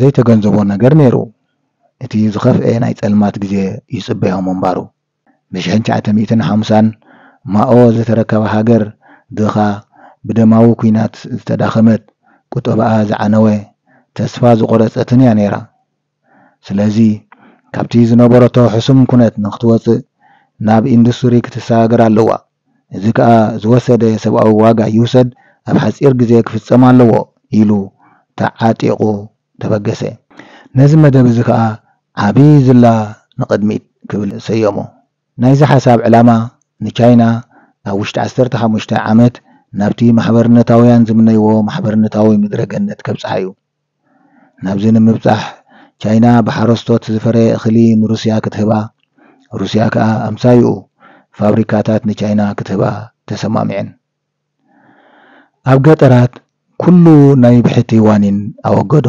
ዘይተገንዘቦ ነገር ነይሩ። እቲ ዝኸፍኤ ናይ ጸልማት ግዜ ይጽበዮ ምንባሩ። ብ ሽሕን ትሽዓተ ሚእትን ሓምሳን ማኦ ዝተረከባ ሃገር ድኻ፣ ብደማዊ ኲናት ዝተዳኸመት፣ ቁጠባኣ ዝዓነወ፣ ተስፋ ዝቖረጸትን እያ ነይራ። ስለዚ ካብቲ ዝነበረቶ ሕሱም ኩነት ንኽትወጽእ ናብ ኢንዱስትሪ ክትሰጋገር ኣለዋ። እዚ ከኣ ዝወሰደ ሰብኣዊ ዋጋ ይውሰድ ኣብ ሓጺር ግዜ ክፍጸም ኣለዎ ኢሉ ተዓጢቑ ተበገሰ። ነዚ መደብ እዚ ከኣ ዓቢ ዝላ ንቕድሚት ክብል ሰየሞ። ናይዚ ሓሳብ ዕላማ ንቻይና ኣብ ውሽጢ ዓሰርተ ሓሙሽተ ዓመት ናብቲ ማሕበርነታውያን ዝምነይዎ ማሕበርነታዊ ምድረ ገነት ከብጽሓ እዩ። ናብዚ ንምብጻሕ ቻይና ብሓረስቶት ዝፈረየ እኽሊ ንሩስያ ክትህባ፣ ሩስያ ከኣ ኣምሳይኡ ፋብሪካታት ንቻይና ክትህባ ተሰማሚዐን። ኣብ ገጠራት ኩሉ ናይ ብሕቲ ዋኒን ኣወገዶ።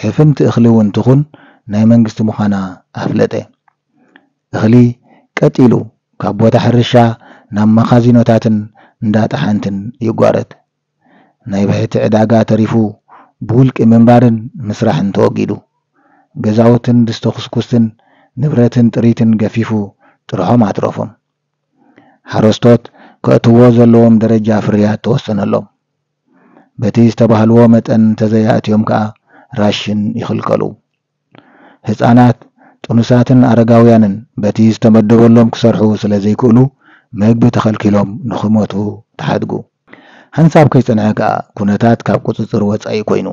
ሕፍንቲ እኽሊ እውን ትኹን ናይ መንግስቲ ምዃና ኣፍለጠ። እኽሊ ቀጥ ኢሉ ካብ ቦታ ሕርሻ ናብ መኻዚኖታትን እንዳ ጠሓንትን ይጓረት። ናይ ብሕቲ ዕዳጋ ተሪፉ ብውልቂ ምንባርን ምስራሕን ተወጊዱ። ገዛውትን ድስተ ኩስኩስትን ንብረትን ጥሪትን ገፊፉ ጥርሖም ኣትረፎም። ሓረስቶት ከእትዎ ዘለዎም ደረጃ ፍርያት ተወሰነሎም። በቲ ዝተባህልዎ መጠን እንተዘይኣእትዮም ከኣ ራሽን ይኽልከሉ። ህጻናት፣ ጥኑሳትን ኣረጋውያንን በቲ ዝተመደበሎም ክሰርሑ ስለ ዘይክእሉ መግቢ ተኸልኪሎም ንኽሞቱ ተሓድጉ። ሓንሳብ ከይጸንሐ ከኣ ኩነታት ካብ ቁጽጽር ወጻኢ ኮይኑ።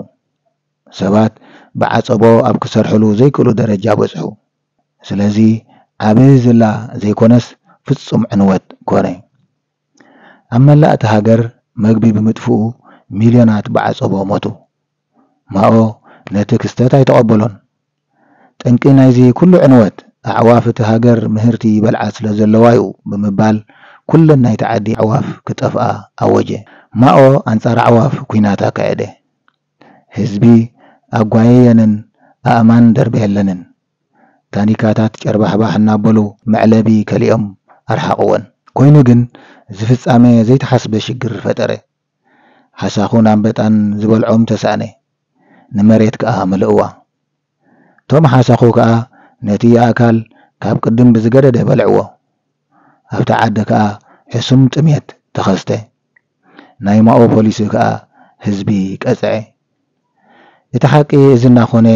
ሰባት ብዓጸቦ ኣብ ክሰርሕሉ ዘይክእሉ ደረጃ በጽሑ። ስለዚ ዓቢ ዝላ ዘይኮነስ ፍጹም ዕንወት ኮነ። ኣብ መላእ እታ ሃገር መግቢ ብምጥፍኡ ሚልዮናት ብዓጸቦ ሞቱ። ማኦ ነቲ ክስተት ኣይተቐበሎን። ጠንቂ ናይዚ ኩሉ ዕንወት ኣዕዋፍ እቲ ሃገር ምህርቲ ይበልዓ ስለ ዘለዋ እዩ ብምባል ኩለን ናይቲ ዓዲ ኣዕዋፍ ክጠፍኣ ኣወጀ። ማኦ ኣንጻር ኣዕዋፍ ኲናት ኣካየደ። ህዝቢ ኣጓየየንን ኣእማን ደርበየለንን። ታኒካታት ጨርባሕባሕ እናበሉ መዕለቢ ከሊኦም ኣርሓቕወን። ኮይኑ ግን እዚ ፍጻመ ዘይተሓስበ ሽግር ፈጠረ። ሓሳኹን ኣንበጣን ዝበልዖም ተሳእነ። ንመሬት ከኣ መለእዋ። እቶም ሓሳኹ ከኣ ነቲ ኣእካል ካብ ቅድም ብዝገደደ በልዕዎ። ኣብቲ ዓዲ ከኣ ሕሱም ጥሜት ተኸስተ። ናይ ማኦ ፖሊሲ ከኣ ህዝቢ ቀጽዐ። እቲ ሓቂ እዚ እናኾነ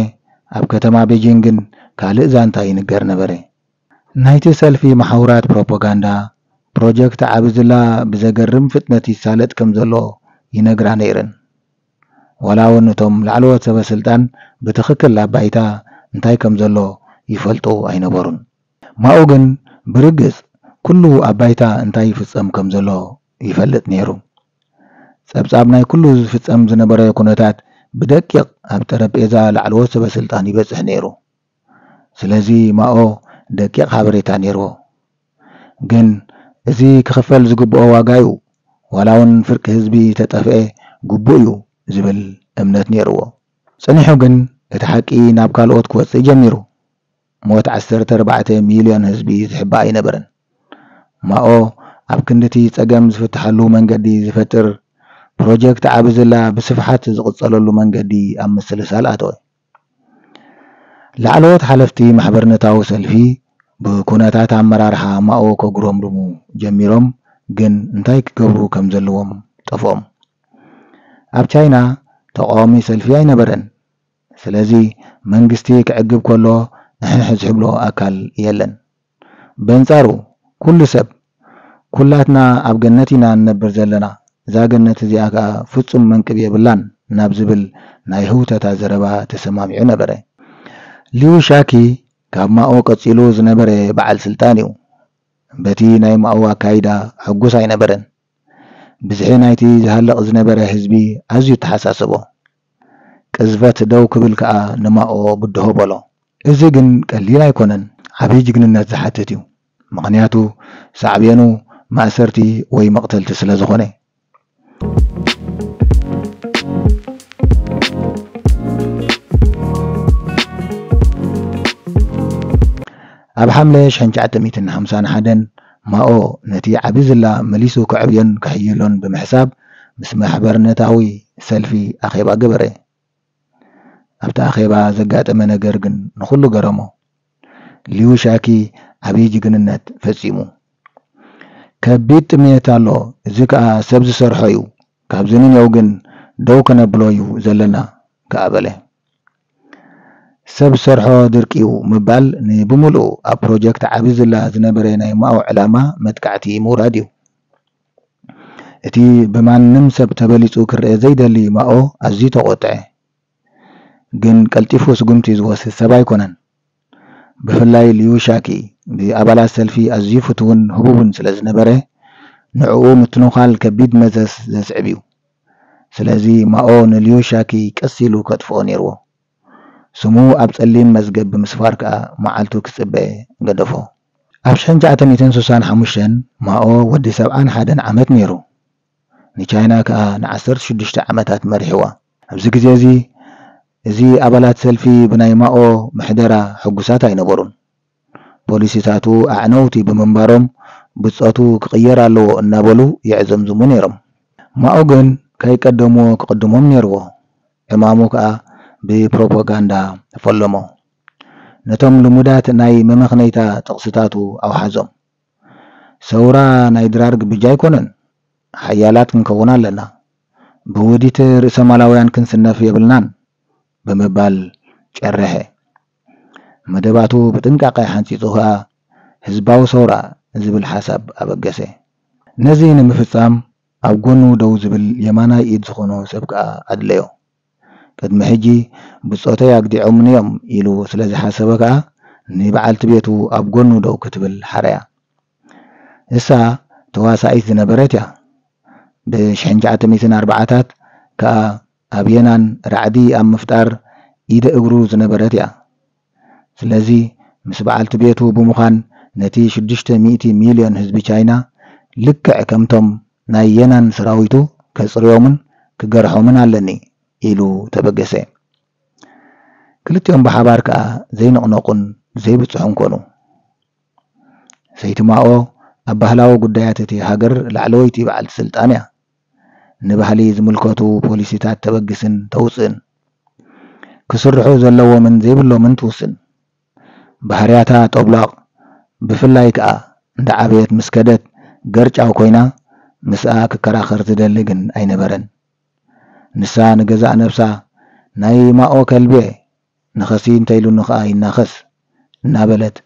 ኣብ ከተማ ቤጂንግን ካልእ ዛንታ ይንገር ነበረ። ናይቲ ሰልፊ መሓውራት ፕሮፓጋንዳ ፕሮጀክት ዓቢ ዝላ ብዘገርም ፍጥነት ይሳለጥ ከም ዘሎ ይነግራ ነይረን። ዋላ እውን እቶም ላዕለዎት ሰበ ስልጣን ብትኽክል ኣብ ባይታ እንታይ ከም ዘሎ ይፈልጡ ኣይነበሩን። ማኡ ግን ብርግጽ ኩሉ ኣብ ባይታ እንታይ ይፍጸም ከም ዘሎ ይፈልጥ ነይሩ። ጸብጻብ ናይ ኩሉ ዝፍጸም ዝነበረ ኩነታት ብደቂቕ ኣብ ጠረጴዛ ላዕለዎት ሰበ ስልጣን ይበጽሕ ነይሩ። ስለዚ ማኦ ደቂቕ ሓበሬታ ነይርዎ። ግን እዚ ክኽፈል ዝግብኦ ዋጋ እዩ። ዋላ እውን ፍርቂ ህዝቢ ተጠፍኤ ግቡእ እዩ ዝብል እምነት ነይርዎ። ጸኒሑ ግን እቲ ሓቂ ናብ ካልኦት ክወጽእ ጀሚሩ። ሞት ዓሰርተ ኣርባዕተ ሚልዮን ህዝቢ ዝሕባእ ኣይነበረን። ማኦ ኣብ ክንድቲ ጸገም ዝፍትሓሉ መንገዲ ዝፈጥር ፕሮጀክት ዓቢ ዝላ ብስፍሓት ዝቕጸለሉ መንገዲ ኣብ ምስልሳል ኣተወ። ላዕለዎት ሓለፍቲ ማሕበርነታዊ ሰልፊ ብኩነታት ኣመራርሓ ማኦ ከጉረምርሙ ጀሚሮም፣ ግን እንታይ ክገብሩ ከም ዘለዎም ጠፍኦም። ኣብ ቻይና ተቃዋሚ ሰልፊ ኣይነበረን። ስለዚ መንግስቲ ክዕግብ ከሎ ንሕንሕ ዝሕብሎ ኣካል የለን። በንጻሩ ኩሉ ሰብ፣ "ኩላትና ኣብ ገነት ኢና እንነብር ዘለና፣ እዛ ገነት እዚኣ ከኣ ፍጹም መንቅብ የብላን" ናብ ዝብል ናይ ህውተታ ዘረባ ተሰማሚዑ ነበረ። ሊው ሻኪ ካብ ማኦ ቀጺሉ ዝነበረ በዓል ስልጣን እዩ። በቲ ናይ ማኦ ኣካይዳ ሕጉስ ኣይነበረን። ብዝሒ ናይቲ ዝሃልቕ ዝነበረ ህዝቢ ኣዝዩ ተሓሳሰቦ። ቅዝፈት ደው ክብል ከኣ ንማኦ ብድሆ በሎ። እዚ ግን ቀሊል ኣይኮነን፣ ዓቢ ጅግንነት ዝሓትት እዩ። ምኽንያቱ ሳዕቤኑ ማእሰርቲ ወይ መቕተልቲ ስለ ዝኾነ። ኣብ ሓምለ ሽሕን ትሽዓተ ሚእትን ሓምሳን ሓደን ማኦ ነቲ ዓቢ ዝላ መሊሱ ከዕብዮን ከሕይሎን ብምሕሳብ ምስ ማሕበርነታዊ ሰልፊ ኣኼባ ገበረ። ኣብቲ ኣኼባ ዘጋጠመ ነገር ግን ንኹሉ ገረሞ። ሊዩ ሻኪ ዓብዪ ጅግንነት ፈጺሙ። ከቢድ ጥሜት ኣሎ፣ እዚ ከኣ ሰብ ዝሰርሖ እዩ። ካብዚ ንኔው ግን ደው ከነብሎ እዩ ዘለና ከኣ በለ። ሰብ ዝሰርሖ ድርቂ እዩ ምባል ንብምሉኡ ኣብ ፕሮጀክት ዓቢ ዝላ ዝነበረ ናይ ማኦ ዕላማ መጥቃዕቲ ምውራድ እዩ። እቲ ብማንም ሰብ ተበሊጹ ክረአ ዘይደሊ ማኦ ኣዝዩ ተቖጥዐ። ግን ቀልጢፉ ስጉምቲ ዝወስድ ሰብ ኣይኮነን። ብፍላይ ሊዩ ሻኪ ብኣባላት ሰልፊ ኣዝዩ ፍቱውን ህቡብን ስለ ዝነበረ፣ ንዕኡ ምትንዃል ከቢድ መዘዝ ዘስዕብ እዩ። ስለዚ ማኦ ንሊዩ ሻኪ ቀስ ኢሉ ከጥፍኦ ነይርዎ። ስሙ ኣብ ጸሊም መዝገብ ብምስፋር ከኣ መዓልቱ ክጽበ ገደፎ። ኣብ ሽሕን ትሽዓተ ሚእትን ስሳን ሓሙሽተን ማኦ ወዲ ሰብዓን ሓደን ዓመት ነይሩ። ንቻይና ከኣ ንዓሰርተ ሽዱሽተ ዓመታት መሪሕዋ። ኣብዚ ግዜ እዚ፣ እዚ ኣባላት ሰልፊ ብናይ ማኦ ምሕደራ ሕጉሳት ኣይነበሩን። ፖሊሲታቱ ኣዕነውቲ ብምንባሮም፣ ብጾቱ ክቕየር ኣለዎ እናበሉ የዕዘምዝሙ ነይሮም። ማኦ ግን ከይቀደምዎ ክቕድሞም ነይርዎ። ዕማሙ ከኣ ብፕሮፓጋንዳ ፈለሞ። ነቶም ልሙዳት ናይ መመኽነይታ ጥቕስታቱ ኣውሓዞም። ሰውራ ናይ ድራር ግብጃ ኣይኮነን። ሓያላት ክንከውን ኣለና። ብውዲት ርእሰማላውያን ክንስነፍ የብልናን ብምባል ጨረሐ። መደባቱ ብጥንቃቐ ሓንጺጹ ከኣ ህዝባዊ ሰውራ ዝብል ሓሳብ ኣበገሰ። ነዚ ንምፍጻም ኣብ ጎኑ ደው ዝብል የማናይ ኢድ ዝኾኖ ሰብ ከኣ ኣድለዮ። ቅድሚ ሕጂ ብጾተይ ኣግዲዖምኒ እዮም ኢሉ ስለ ዝሓሰበ ከኣ ንበዓልቲ ቤቱ ኣብ ጎኑ ደው ክትብል ሓረያ። እሳ ተዋሳኢት ዝነበረት እያ። ብሽሕን ትሽዓተ ሚእትን ኣርባዓታት ከኣ ኣብ የናን ራዕዲ ኣብ ምፍጣር ኢደ እግሩ ዝነበረት እያ። ስለዚ ምስ በዓልቲ ቤቱ ብምዃን ነቲ ሽዱሽተ ሚእቲ ሚልዮን ህዝቢ ቻይና ልክዕ ከምቶም ናይ የናን ሰራዊቱ ከጽርዮምን ክገርሖምን ኣለኒ ኢሉ ተበገሰ። ክልቲኦም ብሓባር ከኣ ዘይንቕነቑን ዘይብጽሑን ኮኑ። ሰይቲ ማኦ ኣብ ባህላዊ ጉዳያት እቲ ሃገር ላዕለወይቲ በዓልቲ ስልጣን እያ። ንባህሊ ዝምልከቱ ፖሊሲታት ተበግስን ተውጽእን። ክስርሑ ዘለዎምን ዘይብሎምን ትውስን። ባህርያታ ጦብላቕ፣ ብፍላይ ከኣ እንዳ ዓበየት ምስ ከደት ገርጫው ኮይና፣ ምስኣ ክከራኸር ዝደሊ ግን ኣይነበረን። ንሳ ንገዛእ ነብሳ ናይ ማኦ ከልቢ እየ፣ ንኸሲ እንተኢሉኒ ኸኣ ይናኸስ እናበለት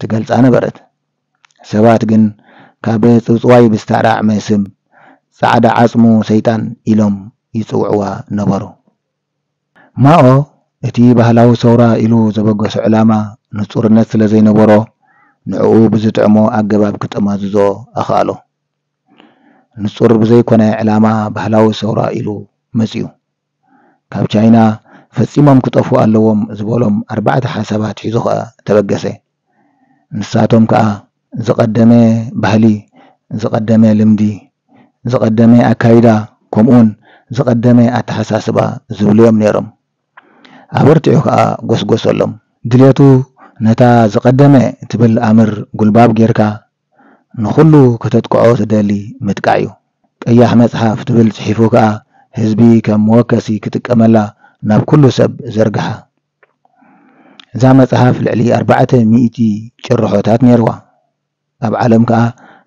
ትገልጻ ነበረት። ሰባት ግን ካብ ጽውጽዋይ ብዝተራዕመ ስም ጻዕዳ ዓጽሙ ሰይጣን ኢሎም ይጽውዕዋ ነበሩ። ማኦ እቲ ባህላዊ ሰውራ ኢሉ ዘበገሶ ዕላማ ንጹርነት ስለ ዘይነበሮ፣ ንዕኡ ብዝጥዕሞ ኣገባብ ክጠማዝዞ ኣኽኣሎ። ንጹር ብዘይኮነ ዕላማ ባህላዊ ሰውራ ኢሉ መጺኡ። ካብ ቻይና ፈጺሞም ክጠፍኡ ኣለዎም ዝበሎም ኣርባዕተ ሓሳባት ሒዙ ኸኣ ተበገሰ። ንሳቶም ከኣ ዝቐደመ ባህሊ፣ ዝቐደመ ልምዲ፣ ዝቐደመ ኣካይዳ፣ ከምኡውን ዝቐደመ ኣተሓሳስባ ዝብሉ እዮም ነይሮም። ኣበርቲዑ ከኣ ጎስጎሰሎም። ድሌቱ ነታ ዝቐደመ ትብል ኣምር ጉልባብ ጌርካ ንኹሉ ከተጥቅዖ ትደሊ ምጥቃዕ እዩ። ቀያሕ መጽሓፍ ትብል ጽሒፉ ከኣ ህዝቢ ከም መወከሲ ክጥቀመላ ናብ ኩሉ ሰብ ዘርግሓ። እዛ መጽሓፍ ልዕሊ ኣርባዕተ ሚእቲ ጭርሖታት ነይርዋ። ኣብ ዓለም ከኣ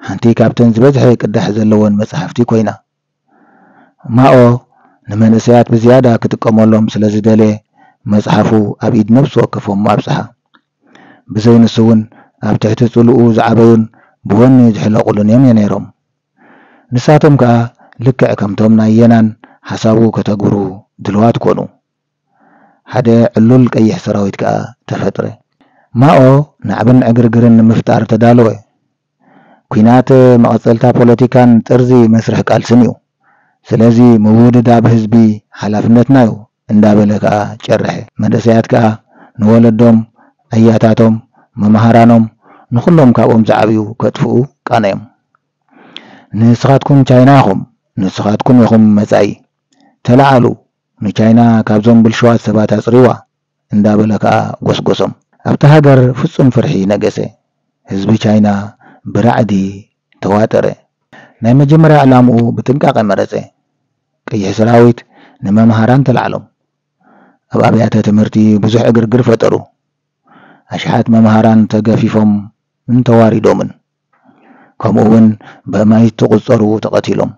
ሓንቲ ካብተን ዝበዝሐ ቅዳሕ ዘለወን መጽሓፍቲ ኮይና። ማኦ ንመንእሰያት ብዝያዳ ክጥቀመሎም ስለ ዝደለየ መጽሓፉ ኣብ ኢድ ነብሲ ወከፎም ኣብጽሓ። ብዘይ ንሱ እውን ኣብ ትሕቲ ጽልኡ ዝዓበዩን ብወኒ ዝሕለቑሉን እዮም ነይሮም። ንሳቶም ከኣ ልክዕ ከምቶም ናይ የናን ሓሳቡ ከተግብሩ ድልዋት ኮኑ። ሓደ ዕሉል ቀይሕ ሰራዊት ከኣ ተፈጥረ። ማኦ ናዕብን ዕግርግርን ንምፍጣር ተዳለወ። ኲናት መቐጸልታ ፖለቲካን ጥርዚ መስርሕ ቃልስን እዩ። ስለዚ ምውድዳብ ህዝቢ ሓላፍነትና እዩ እንዳበለ ከኣ ጨርሐ። መንእሰያት ከኣ ንወለዶም፣ ኣያታቶም፣ መማህራኖም፣ ንኹሎም ካብኦም ዝዓብዩ ከጥፍኡ ቃነዮም። ንስኻትኩም ቻይና ኢኹም፣ ንስኻትኩም ኢኹም መጻኢ። ተለዓሉ፣ ንቻይና ካብዞም ብልሽዋት ሰባት ኣጽርይዋ እንዳበለ ከኣ ጎስጎሶም። ኣብታ ሃገር ፍጹም ፍርሒ ነገሰ። ህዝቢ ቻይና ብራዕዲ ተዋጠረ። ናይ መጀመርያ ዕላምኡ ብጥንቃቐ መረጸ። ቀይሕ ሰራዊት ንመምሃራን ተላዕሎም። ኣብ ኣብያተ ትምህርቲ ብዙሕ ዕግርግር ፈጠሩ። ኣሽሓት መምሃራን ተገፊፎምን ተዋሪዶምን፣ ከምኡ እውን ብኣማኢት ዝቑጸሩ ተቐቲሎም።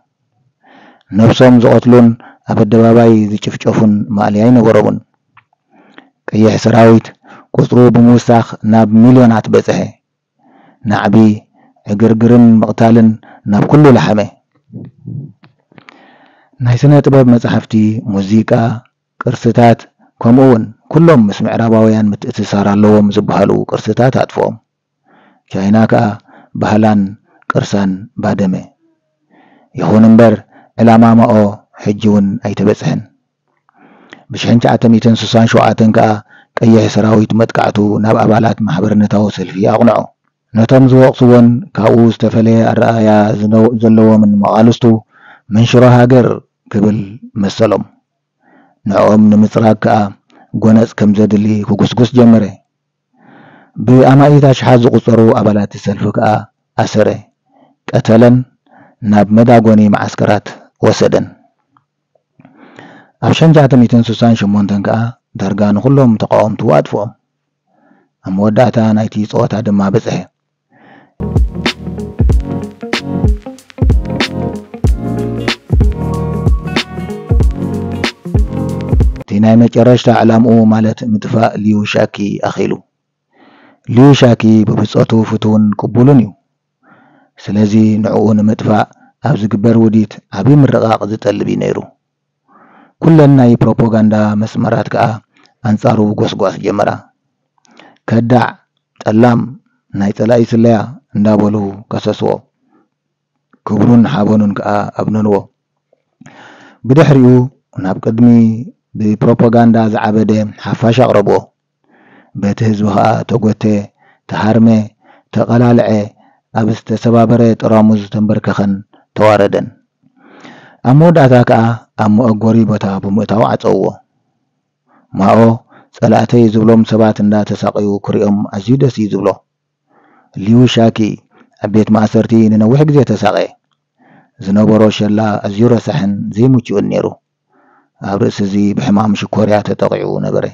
ነብሶም ዝቐትሉን ኣብ ኣደባባይ ዝጭፍጨፉን ማእለያ ኣይነበሮምን። ቀይሕ ሰራዊት ቁጽሩ ብምውሳኽ ናብ ሚልዮናት በጽሐ። ናዕቢ፣ ዕግርግርን ምቕታልን ናብ ኩሉ ለሓመ። ናይ ስነ ጥበብ መጻሕፍቲ፣ ሙዚቃ፣ ቅርስታት፣ ከምኡ እውን ኩሎም ምስ ምዕራባውያን ምትእስሳር ኣለዎም ዝበሃሉ ቅርስታት ኣጥፍኦም። ቻይና ከኣ ባህላን ቅርሳን ባደመ። ይኹን እምበር፣ ዕላማ ማኦ ሕጂ እውን ኣይተበጽሐን። ብ ሽሕን ትሽዓተ ሚእትን ስሳን ሸውዓተን ከኣ ቀይሕ ሰራዊት መጥቃዕቱ ናብ ኣባላት ማሕበርነታዊ ሰልፊ ኣቕንዖ። ነቶም ዝወቕስዎን ካብኡ ዝተፈለየ ኣረኣእያ ዝነው-፣ ዘለዎምን መቓልስቱ መንሽሮ ሃገር ክብል መሰሎም። ንዕኦም ንምጽራግ ከኣ ጎነጽ ከም ዘድሊ ክጉስጉስ ጀመረ። ብኣማኢት ኣሽሓት ዝቑጸሩ ኣባላት ሰልፊ ከኣ ኣሰረ፣ ቀተለን ናብ መዳጎኒ መዓስከራት ወሰደን። ኣብ ሽሕን ትሽዓተ ሚእትን ስሳን ሸሞንተን ከኣ ዳርጋ ንኹሎም ተቓወምቱ ኣጥፍኦም። ኣብ መወዳእታ ናይቲ ጸወታ ድማ በጽሐ። እቲ ናይ መጨረሽታ ዕላምኡ፣ ማለት ምጥፋእ ሊዩ ሻኪ ኣኺሉ። ሊዩ ሻኪ ብብጾቱ ፍቱውን ቅቡልን እዩ። ስለዚ ንዕኡ ንምጥፋእ ኣብ ዝግበር ውዲት ዓቢ ምርቓቕ ዝጠልብ እዩ ነይሩ። ኩለን ናይ ፕሮፓጋንዳ መስመራት ከኣ ኣንጻሩ ጎስጓስ ጀመራ። ከዳዕ፣ ጠላም፣ ናይ ጸላኢ ስለያ እንዳበሉ ከሰስዎ። ክብሩን ሓበኑን ከኣ ኣብነንዎ። ብድሕሪኡ ናብ ቅድሚ ብፕሮፓጋንዳ ዝዓበደ ሓፋሽ ኣቕረብዎ። በቲ ህዝቢ ከኣ ተጎተ፣ ተሃርመ፣ ተቐላልዐ፣ ኣብ ዝተሰባበረ ጠራሙዝ ተንበርከኸን ተዋረደን። ኣብ መወዳእታ ከኣ ኣብ መእጎሪ ቦታ ብምእታው ዓጸውዎ። ማኦ ጸላእተይ ዝብሎም ሰባት እንዳተሳቐዩ ክሪኦም ኣዝዩ ደስ እዩ ዝብሎ። ሊዩ ሻኪ ኣብ ቤት ማእሰርቲ ንነዊሕ ግዜ ተሳቐየ። ዝነበሮ ሸላ ኣዝዩ ረሳሕን ዘይምቹእን ነይሩ። ኣብ ርእሲ እዚ ብሕማም ሽኮርያ ተጠቒዑ ነበረ።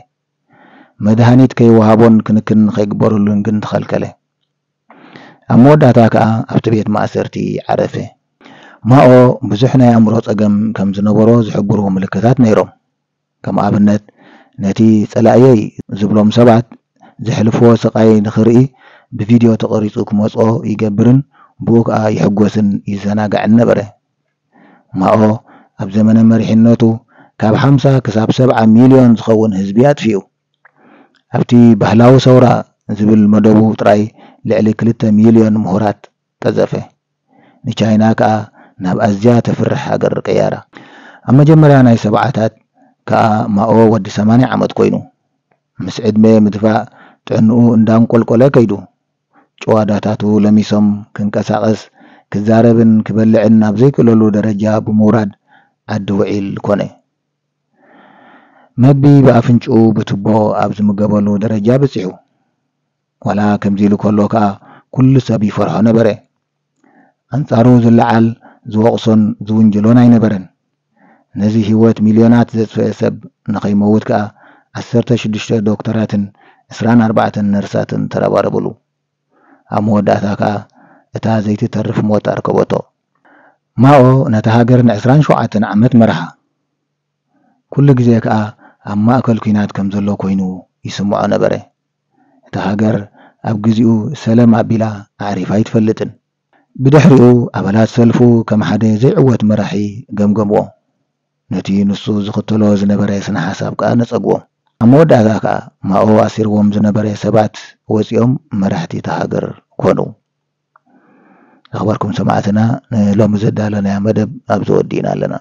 መድሃኒት ከይወሃቦን ክንክን ከይግበረሉን ግን ተኸልከለ። ኣብ መወዳእታ ከኣ ኣብቲ ቤት ማእሰርቲ ዓረፈ። ማኦ ብዙሕ ናይ ኣእምሮ ጸገም ከም ዝነበሮ ዝሕብሩ ምልክታት ነይሮም። ከም ኣብነት፣ ነቲ ጸላእየይ ዝብሎም ሰባት ዘሕልፍዎ ስቓይ ንኽርኢ ብቪድዮ ተቐሪጹ ክመጽኦ ይገብርን ብኡ ከኣ ይሕጎስን ይዘናጋዕን ነበረ። ማኦ ኣብ ዘመነ መሪሕነቱ ካብ ሓምሳ ክሳብ ሰብዓ ሚልዮን ዝኸውን ህዝቢ ኣጥፊኡ። ኣብቲ ባህላዊ ሰውራ ዝብል መደቡ ጥራይ ልዕሊ ክልተ ሚልዮን ምሁራት ቀዘፈ። ንቻይና ከኣ ናብ ኣዝያ ተፍርሕ ሃገር ቀያራ። ኣብ መጀመርያ ናይ ሰብዓታት ከኣ ማኦ ወዲ ሰማንያ ዓመት ኮይኑ፣ ምስ ዕድመ ምድፋእ ጥዕንኡ እንዳንቆልቆለ ከይዱ። ጭዋዳታቱ ለሚሶም፣ ክንቀሳቐስ፣ ክዛረብን ክበልዕን ኣብ ዘይክእለሉ ደረጃ ብምውራድ ዓዲ ውዒል ኮነ። መግቢ ብኣፍንጭኡ ብቱቦ ኣብ ዝምገበሉ ደረጃ በጺሑ። ዋላ ከምዚ ኢሉ ከሎ ከኣ ኩሉ ሰብ ይፈርሖ ነበረ። ኣንጻሩ ዝለዓል ዝወቕሶን ዝውንጅሎን ኣይነበረን። ነዚ ህይወት ሚልዮናት ዘጥፍአ ሰብ ንኸይመውት ከኣ ዓሰርተ ሽዱሽተ ዶክተራትን ዕስራን ኣርባዕተን ነርሳትን ተረባረብሉ። ኣብ መወዳእታ ከኣ እታ ዘይትተርፍ ሞት ኣርከበቶ። ማኦ ነታ ሃገር ንዕስራን ሸውዓተን ዓመት መርሓ። ኩሉ ግዜ ከኣ ኣብ ማእከል ኲናት ከም ዘሎ ኮይኑ ይስምዖ ነበረ። እታ ሃገር ኣብ ግዜኡ ሰለም ኣቢላ ኣዕሪፋ ኣይትፈልጥን። ብድሕሪኡ ኣባላት ሰልፉ ከም ሓደ ዘይዕወት መራሒ ገምገምዎ። ነቲ ንሱ ዝኽተሎ ዝነበረ ስነ ሓሳብ ከኣ ነጸግዎ። ኣብ መወዳእታ ከኣ ማኦ ኣሲርዎም ዝነበረ ሰባት ወጺኦም መራሕቲ እታ ሃገር ኮኑ። ዝኸበርኩም ሰማዕትና፣ ንሎሚ ዘዳለናዮ መደብ ኣብዚ ወዲእና ኣለና።